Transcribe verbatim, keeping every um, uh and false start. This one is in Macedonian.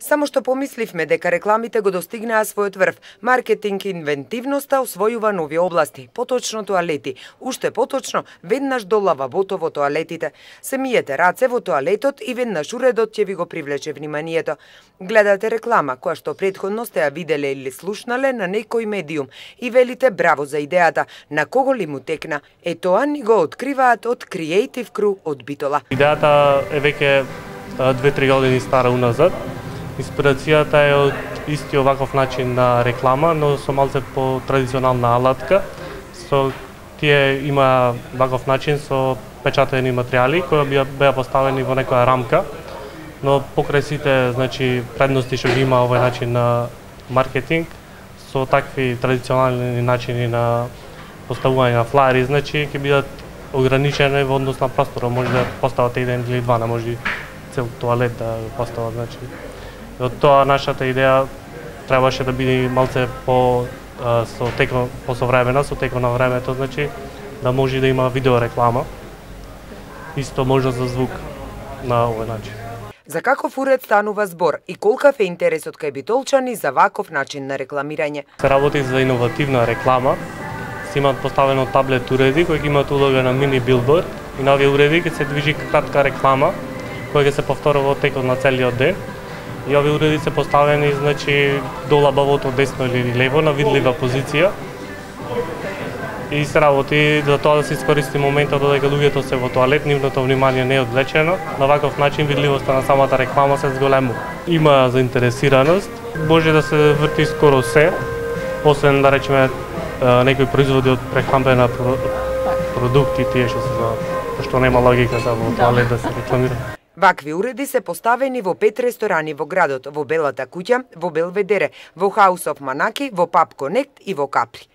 Само што помисливме дека рекламите го достигнаа својот врв, маркетинг инвентивноста освојува нови области, поточно тоалети. Уште поточно, веднаш до лавабото во тоалетите. Се миете раце во тоалетот и веднаш уредот ќе ви го привлече вниманието. Гледате реклама, која што претходно сте ја виделе или слушнале на некој медиум и велите браво за идејата, на кого ли му текна. Е тоа ни го откриваат од Creative Crew од Битола. Идејата е веќе две-три години стара уназад. Инспирацијата е од исти оваков начин на реклама, но со малце по традиционална алатка. Со тие има ваков начин со печатени материјали кои беа поставени во некоја рамка, но покрај сите, значи, предности што ги има овој начин на маркетинг, со такви традиционални начини на поставување на флаери, значи ќе бидат ограничени во однос на простора, може да постават еден или два, не може цел тоалет да постават, значи. Од тоа нашата идеја требаше да биде малце по а, со текот по современа, со текот на времето, значи да може да има видео реклама. Исто можност за звук на овој начин. За каков уред станува збор и колкав е интересот кај битолчани за ваков начин на рекламирање? Се работи за иновативна реклама. Се имаат поставено таблет уреди кои имаат улога на мини билборд и на овие уреди ќе се движи кратка реклама која ќе се повторува во текот на целиот ден. И овие уреди се поставени, значи, до лабавото десно или лево на видлива позиција. И се работи за тоа да се искористи моментот додека луѓето се во тоалет, нивното внимание не е одвлечено. На ваков начин видливоста на самата реклама се зголемува. Има заинтересираност, може да се врти скоро се, освен да речеме некои производи од прехранбена продукти, тие што се за што нема логика да во тоалет да се рекламира. Вакви уреди се поставени во пет ресторани во градот, во Белата куќа, во Белведере, во House of Manaki, во Pub Connect и во Капри.